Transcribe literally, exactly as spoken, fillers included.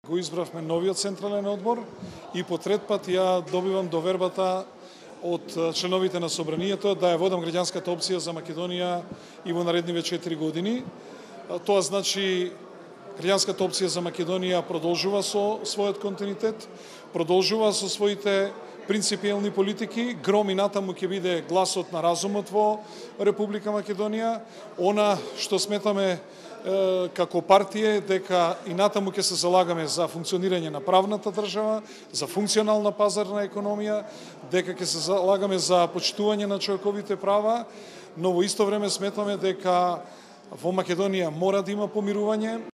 Го избравме новиот централен одбор и по трет пат ја добивам довербата од членовите на собранието да ја водам граѓанската опција за Македонија и во наредниве четири години. Тоа значи граѓанската опција за Македонија продолжува со својот континуитет, продолжува со своите принципиелни политики, гром и натаму ќе биде гласот на разумот во Република Македонија. Она што сметаме како партија дека и натаму ќе се залагаме за функционирање на правната држава, за функционална пазарна економија, дека ќе се залагаме за почитување на човековите права, но во исто време сметаме дека во Македонија мора да има помирување,